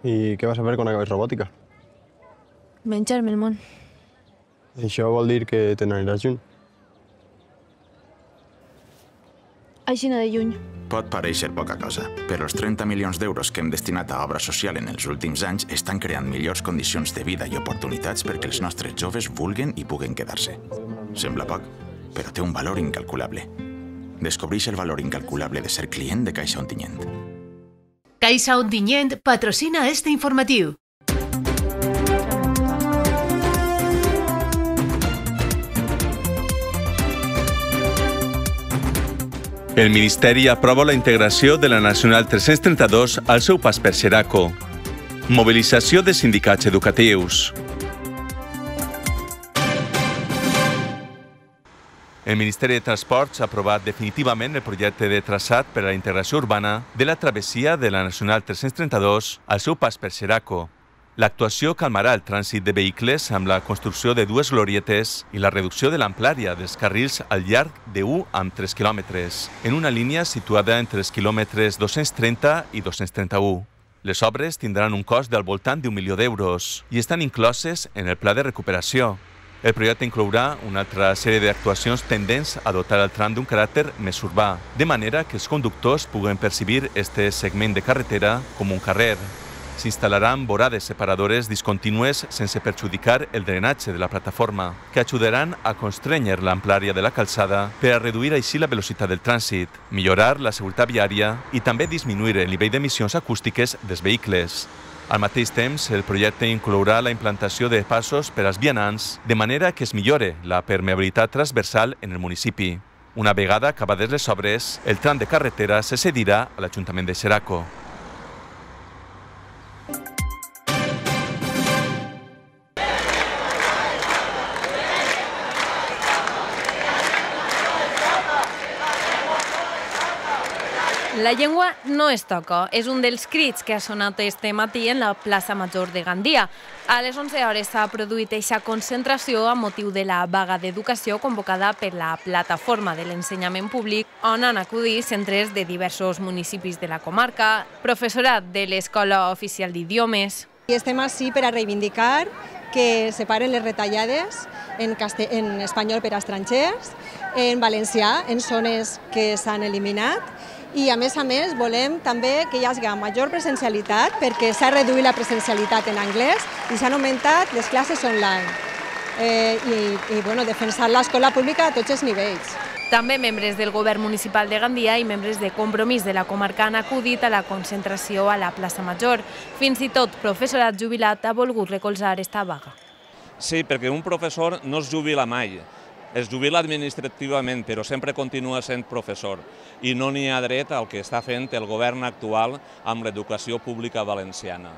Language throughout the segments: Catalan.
I què vas a fer quan acabes robòtica? Menjar-me el món. Això vol dir que te n'aniràs lluny. Aixina de lluny. Pot parèixer poca cosa, però els 30 milions d'euros que hem destinat a obra social en els últims anys estan creant millors condicions de vida i oportunitats perquè els nostres joves vulguen i puguen quedar-se. Sembla poc, però té un valor incalculable. Descobreix el valor incalculable de ser client de Caixa Ontinyent. Caixa Ontinyent patrocina este informatiu. El Ministeri aprova la integració de la Nacional 332 al seu pas per Xeraco. Mobilització de sindicats educatius. El Ministeri de Transports ha aprovat definitivament el projecte de traçat per a la integració urbana de la travessia de la Nacional 332 al seu pas per Xeraco. L'actuació calmarà el trànsit de vehicles amb la construcció de dues glorietes i la reducció de l'amplària dels carrils al llarg de 1 amb 3 quilòmetres, en una línia situada entre els quilòmetres 230 i 231. Les obres tindran un cost del voltant d'1 milió d'euros i estan incloses en el pla de recuperació. El projecte inclourà una altra sèrie d'actuacions tendents a dotar el tram d'un caràcter més urbà, de manera que els conductors puguen percibir este segment de carretera com un carrer. S'instal·laran vorades separadores discontínues sense perjudicar el drenatge de la plataforma, que ajudaran a constrènyer l'amplària de la calçada per a reduir així la velocitat del trànsit, millorar la seguretat viària i també disminuir el nivell d'emissions acústiques dels vehicles. Al mateix temps, el projecte inclourà la implantació de passos per als vianants, de manera que es millore la permeabilitat transversal en el municipi. Una vegada acabades les obres, el tram de carretera se cedirà a l'Ajuntament de Xeraco. La llengua no es toca. És un dels crits que ha sonat este matí en la plaça Major de Gandia. A les 11 hores s'ha produït aquesta concentració a motiu de la vaga d'educació convocada per la plataforma de l'ensenyament públic, on han acudit centres de diversos municipis de la comarca, professorat de l'Escola Oficial d'Idiomes. I estem així per a reivindicar que separen les retallades en espanyol per a estrangers, en valencià, en zones que s'han eliminat, i a més volem també que hi hagi major presencialitat perquè s'ha reduït la presencialitat en anglès i s'han augmentat les classes online. I defensar l'escola pública a tots els nivells. També membres del govern municipal de Gandia i membres de Compromís de la comarca han acudit a la concentració a la plaça Major. Fins i tot professorat jubilat ha volgut recolzar esta vaga. Sí, perquè un professor no es jubila mai. Es jubila administrativament, però sempre continua sent professor. I no n'hi ha dret al que està fent el govern actual amb l'educació pública valenciana.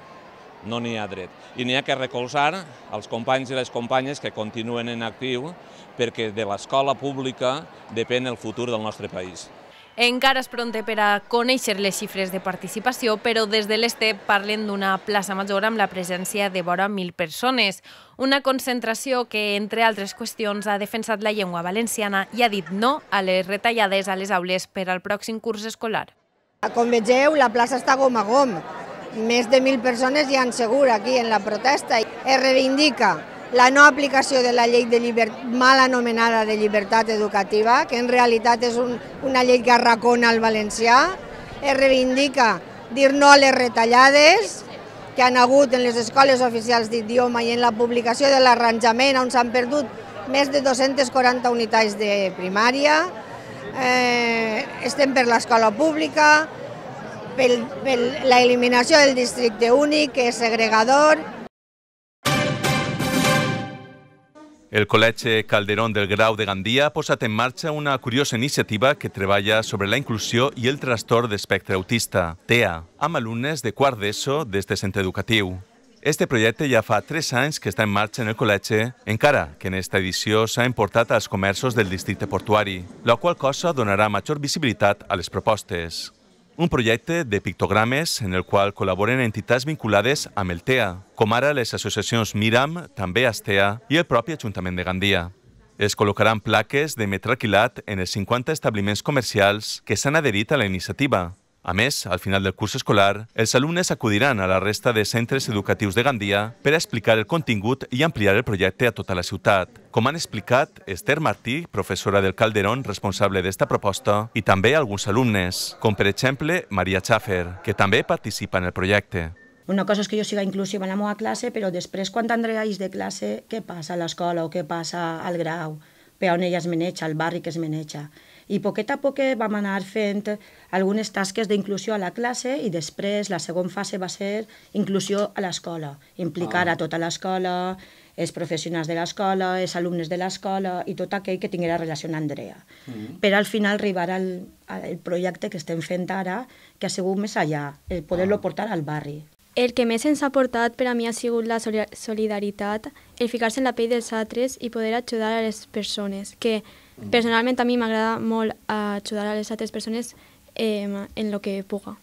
No n'hi ha dret. I n'hi ha que recolzar els companys i les companyes que continuen en actiu perquè de l'escola pública depèn el futur del nostre país. Encara és pront per a conèixer les xifres de participació, però des de l'Este parlen d'una plaça Major amb la presència de vora 1.000 persones. Una concentració que, entre altres qüestions, ha defensat la llengua valenciana i ha dit no a les retallades a les aules per al pròxim curs escolar. Com vegeu, la plaça està gom a gom. Més de 1.000 persones hi han segur aquí en la protesta. Es reivindica la no aplicació de la llei mal anomenada de llibertat educativa, que en realitat és una llei que arracona el valencià. Es reivindica dir no a les retallades que han hagut en les escoles oficials d'idioma i en la publicació de l'arranjament, on s'han perdut més de 240 unitats de primària. Estem per l'escola pública, per l'eliminació del districte únic, que és segregador. El Col·legi Calderón del Grau de Gandia ha posat en marxa una curiosa iniciativa que treballa sobre la inclusió i el trastorn d'espectre autista, TEA, amb alumnes de quart d'ESO d'este centre educatiu. Este projecte ja fa 3 anys que està en marxa en el col·legi, encara que en esta edició s'ha importat als comerços del districte portuari, la qual cosa donarà major visibilitat a les propostes. Un projecte de pictogrames en el qual col·laboren entitats vinculades amb el TEA, com ara les associacions Miram, també Astea i el propi Ajuntament de Gandia. Es col·locaran plaques de metre alquilat en els 50 establiments comercials que s'han adherit a la iniciativa, A més, al final del curs escolar, els alumnes acudiran a la resta de centres educatius de Gandia per a explicar el contingut i ampliar el projecte a tota la ciutat. Com han explicat Esther Martí, professora del Calderón, responsable d'esta proposta, i també alguns alumnes, com per exemple Maria Schaffer, que també participa en el projecte. Una cosa és que jo siga inclusiva en la meva classe, però després, quan tindràs de classe, què passa a l'escola o què passa al grau, per on ella es maneja, al barri que es maneja. I poquet a poquet vam anar fent algunes tasques d'inclusió a la classe i després la segona fase va ser inclusió a l'escola, implicar a tota l'escola, els professionals de l'escola, els alumnes de l'escola i tot aquell que tinguera relació amb Andrea. Per al final arribar al projecte que estem fent ara, que ha sigut més allà, el poder-lo portar al barri. El que més ens ha portat per a mi ha sigut la solidaritat, el ficar-se en la pell dels altres i poder ajudar a les persones, que personalment a mi m'agrada molt ajudar a les altres persones en el que puga.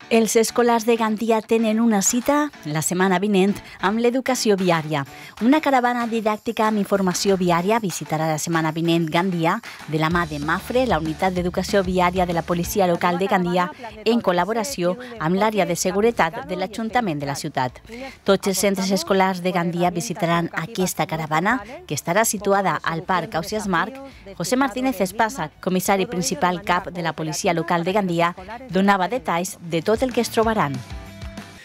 Els escolars de Gandia tenen una cita la setmana vinent amb l'educació viària. Una caravana didàctica amb informació viària visitarà la setmana vinent Gandia de la mà de Mafre, la unitat d'educació viària de la policia local de Gandia, en col·laboració amb l'àrea de seguretat de l'Ajuntament de la ciutat. Tots els centres escolars de Gandia visitaran aquesta caravana, que estarà situada al Parc Ausiàs Marc. José Martínez Espasa, comissari principal cap de la policia local de Gandia, donava detalls de tot el que es trobarán.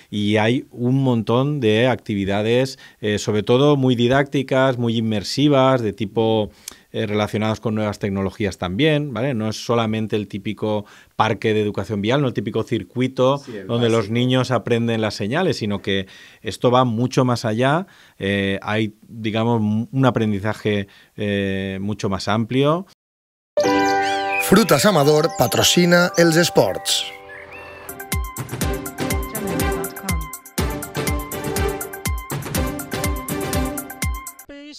Y hay un montón de actividades, sobre todo muy didácticas, muy inmersivas, de tipo relacionados con nuevas tecnologías también, ¿vale? No es solamente el típico parque de educación vial, no el típico circuito donde los niños aprenden las señales, sino que esto va mucho más allá. Hay, digamos, un aprendizaje mucho más amplio. Frutas Amador patrocina els esports.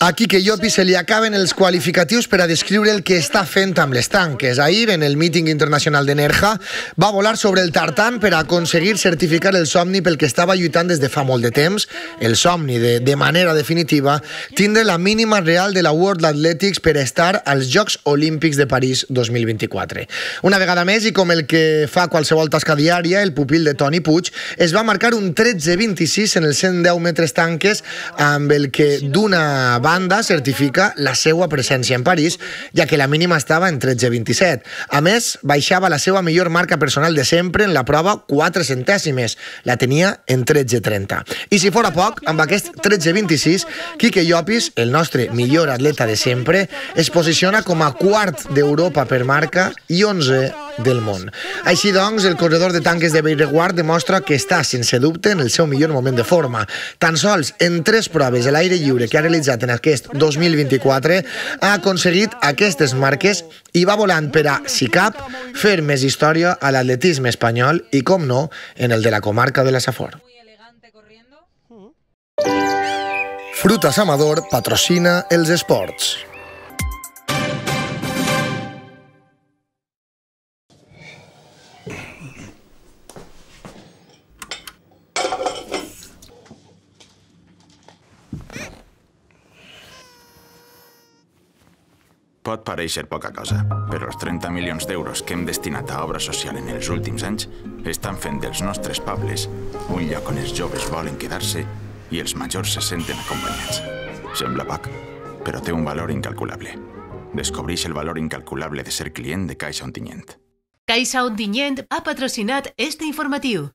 A Quique Llopis se li acaben els qualificatius per a descriure el que està fent amb les tanques. Ahir, en el míting internacional de Nerja, va volar sobre el tartan per a aconseguir certificar el somni pel que estava lluitant des de fa molt de temps, el somni de manera definitiva, tindre la mínima real de la World Athletics per a estar als Jocs Olímpics de París 2024. Una vegada més, i com el que fa qualsevol tasca diària, el pupil de Toni Puig es va marcar un 13.26 en els 110 metres tanques, amb el que d'una banda certifica la seva presència en París, ja que la mínima estava en 13.27. A més, baixava la seva millor marca personal de sempre en la prova 4 centèsimes. La tenia en 13.30. I si fora poc, amb aquest 13.26, Quique Llopis, el nostre millor atleta de sempre, es posiciona com a quart d'Europa per marca i 11 del món. Així doncs, el corredor de tanques de Bellreguard demostra que està, sense dubte, en el seu millor moment de forma. Tan sols en 3 proves a l'aire lliure que ha realitzat en aquest 2024 ha aconseguit aquestes marques i va volant per a, si cap, fer més història a l'atletisme espanyol i, com no, en el de la comarca de la Safor. Frutas Amador patrocina els esports. Pot parèixer poca cosa, però els 30 milions d'euros que hem destinat a obra social en els últims anys estan fent dels nostres pobles un lloc on els joves volen quedar-se i els majors se senten acompanyats. Sembla poc, però té un valor incalculable. Descobreix el valor incalculable de ser client de Caixa Ontinyent. Caixa Ontinyent ha patrocinat este informatiu.